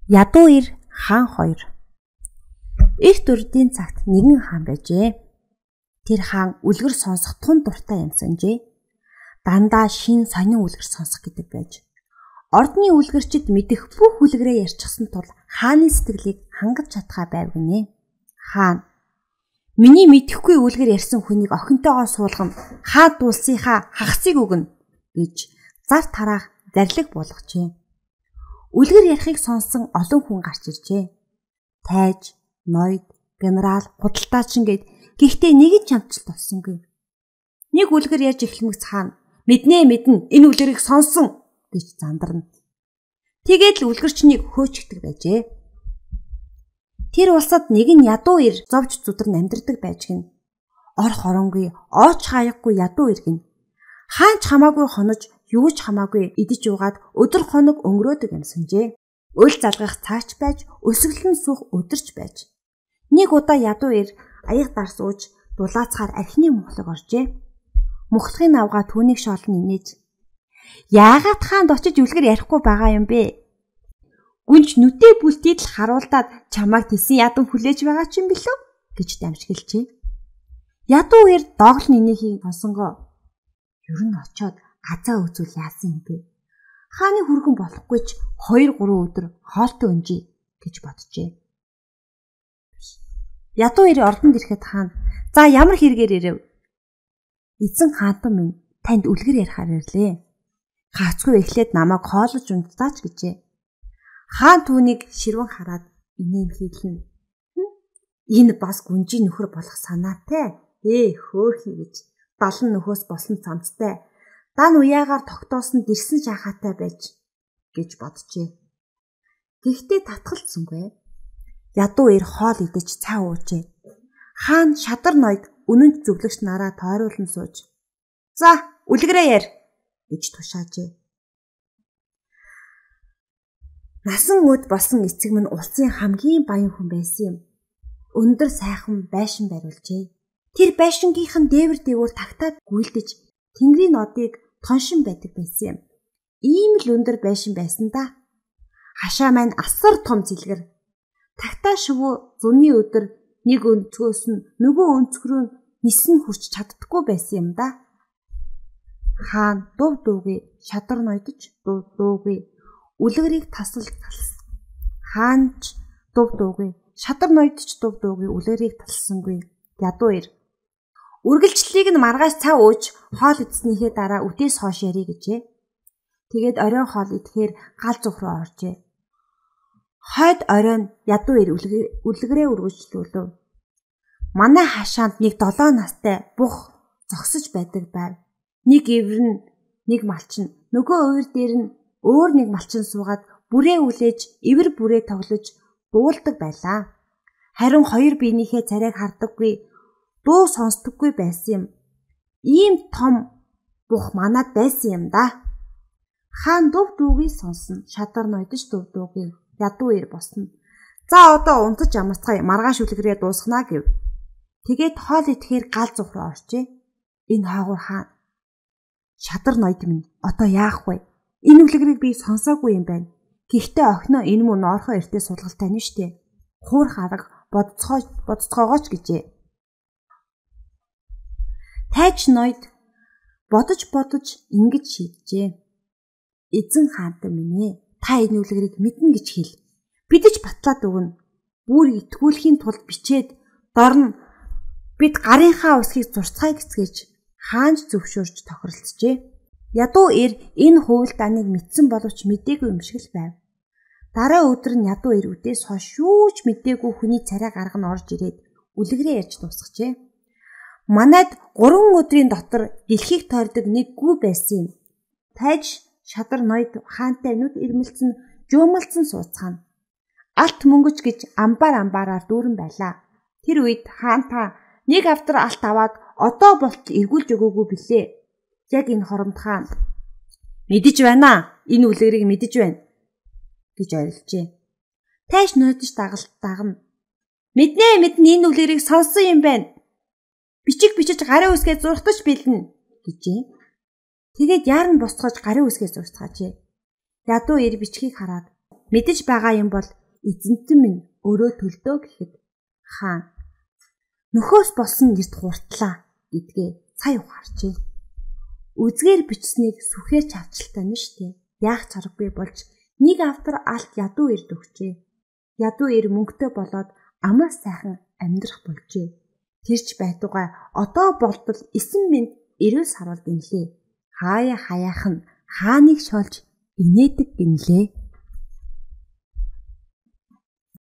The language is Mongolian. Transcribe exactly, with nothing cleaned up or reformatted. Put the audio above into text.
Ядуу эр хаан хоёр. Эрт урдын цагт нэгэн хаан байжээ. Тэр хаан үлгэр сонсох тун дуртай юм санжээ. Дандаа шин сонин үлгэр сонсох гэдэг байж. Ордны үлгэрчид мэдэх бүх үлгэрээ ярьчихсан тул хааны сэтгэлийг хангаж чадхаа байв гинэ. Хаан: "Миний мэдэхгүй үлгэр ярьсан хүнийг охинтойгоо суулган хаад дуулсынхаа хагасыг өгнө" гэж зар тараах зарлиг болгожээ. Үлгэр ярихыг сонсон олон хүн гарч иржээ. Тайж, ноёд, генерал, худалдаачин гээд гэхдээ нэг ч амжилт олсонгүй. Нэг үлгэр ярьж эхлэмэгц хаан: "Мэднэ мэднэ, энэ үлгэрийг сонсон" гэж зандарна. Тэгээд л үлгэрчнийг хөөчгдөг байжээ. Тэр улсад нэгэн ядуу эр зовж зүдрэн амьдардаг байж гин. Ор хоронгүй, ооч хаяхгүй ядуу иргэн. Хаанч хамаагүй хонож, юу ч хамаагүй идэж уугаад өдөр хоног өнгөрөөдөг юм санжээ. Өл залгах цаач байж, өсөглөн суух өдөрч байж. Нэг удаа ядуу эр аяг дарс ууж дулаацахаар архины мухлаг оржээ. Мухлагын авгаа түүнийг шоолн инээж: "Яагаад хаанд очиж үлгэр ярихгүй байгаа юм бэ? Гүнж нүдээ бүлтийд л харуулдаад чамайг тэсэн ядан хүлээж байгаа ч юм билүү?" гэж дамжиглжээ. Ядуу эр доогл нэнийхийг сонсонгоо: "Ер нь очоод газаа үзүүл яасан юм бэ? Хааны хүргэн болохгүй ч хоёр гурван өдөр хоолтой өнжий" гэж боджээ. Ядуу эр ордонд ирэхэд хаан: "За ямар хэрэгээр ирэв?" "Эзэн хаантан минь танд үлгэр ярихаар ирлээ. Хаацгүй эхлээд намайг хоолож унтаач" гэжээ. Хаан түүнийг ширвэн хараад инээн хийлэн: "Энэ бас гүнжийн нөхөр болох санаатай. Ээ хөөхий" гэж далан нөхөөс болсон цамцтай дан уяагаар тогтоосон дэрсэн шахаатай байж гэж боджээ. Гэхдээ татгалцсангүй. Ядуу эр хоол идэж цаа уужээ. Хаан шадар ноёд үнэнч зөвлөгч нараа тойруулан сууж: "За, үлгэрээ ярь" гэж тушаажээ. Насан өд болсон эцэг минь улсын хамгийн баян хүн байсан юм. Өндөр сайхан байшин бариулжээ. Тэр байшингийнхан дээвэр дээвэр тагтаад гүйлдэж тэнгэрийн нодыг тоншин байдаг байсан юм. Ийм л өндөр байшин байсан да. Хашаа маань асар том цэлгэр. Тагтаа шувуу зуны өдөр нэг өнцгөөс нь нөгөө өнцгөрөө нисэн хүрч чаддаггүй байсан юм да. Хаан дув дуугүй шадар ноёдож дув дуугүй үлгэрийг тасал талс. Хаанч дув дуугүй шадар ноёдож дув дуугүй үлгэрийг талсангүй. Ядуу эр: "Үргэлжлэлийг нь маргааш цаа ууж хоол идснийхээ дараа үдээс хоош ярий" гэжээ. Тэгээд оройн хоол идэхээр гал зүх рүү оржээ. Хойд оройн ядуу эр үлгэрээ үргэлжлүүлв. Манай хашаанд нэг долоо настай бух зогсож байдаг байв. Нэг ивэр нь нэг малчин, нөгөө өвөр дээр нь өөр нэг малчин суугаад бүрээ үлээж ивэр бүрээ тоглож дуулдаг байлаа. Харин хоёр биенийхээ царайг хардаггүй, дуу сонсдоггүй байсан юм. Ийм том бух манад байсан юм да. Хаан дув дуугийг сонсон, шадар ноёдож дув дуугийг. Ядуу эр босно. "За одоо унтаж амарцгаая, маргааш үлгэрээ дуусгана" гэв. Тэгээд хоол идэхээр гал зүх рүү оржээ. Энэ хаагур хаан: "Шадар ноёд минь одоо яах вэ? Энэ үлгэрийг би сонсоогүй юм байна. Гэхдээ охиноо энэ мөн орхоо эртээ суулгалтай нь штэ. Хуурах арга бодцоо бодцоогооч" гэжээ. Тайж ноёд бодож бодож ингэж шийджээ. "Эзэн хаантан минь ээ, та энэ үлгэрийг мэднэ гэж хэл. Бидэж батлаад өгнө. Бүр итгүүлэхийн тулд бичээд дорн бид гарынхаа усхийг зурцгаая" гэцгээж хаанч зөвшөөрч тохиролцжээ. Ядуу эр энэ хувилдааныг мэдсэн боловч мэдээгүй юм шиг л байв. Дараа өдөр нь ядуу эр үдээс хойш юу ч мэдээгүй хүний царай гарга нь орж ирээд үлгэрээ ярьж дуусгажээ. "Манайд гурван өдрийн дотор дэлхийг тойрдог нэг гүү байсан юм. Тайж шадар ноёд хаантай нүд ирмэлцэн жуумалцсан сууцгаана. Алт мөнгөж гэж амбаар амбаараар дүүрэн байлаа. Тэр үед хаан та нэг автар алт аваад одоо болтол эргүүлж өгөөгүй билээ. Яг энэ хоромд хаан: "Мэдэж байна. Энэ үлгэрийг мэдэж байна" гэж орилжээ. Тайж ноёдож дагалт дагна: "Мэднэ мэднэ, энэ үлгэрийг сонссон юм байна. Бичиг бичиж гарын үсгээ зурхтаж бэлнэ" гэжээ. Тэгээд яарн босцоож гарын үсгээ зурцгаажээ. Ядуу эр бичгийг хараад: Мэдэж байгаа юм бол эзэнтэн минь өөрөө төлдөө гэхэд хаан нөхөөс болсон гэрт хуртлаа гэдгээ цай ухаарчээ. Үзгээр бичсэнийг сүхээр чавчилтай нь штэ. Яах чаргагүй болж нэг автар алт ядуу эрд өгчээ. Ядуу эр мөнгөтэй болоод амар сайхан амьдрах болжээ. Тэрч байтугай одоо болтол эсэн минь эрүүл саруул гинлээ. Хаяа хаяахан хааныг шолж инээдэг гинлээ.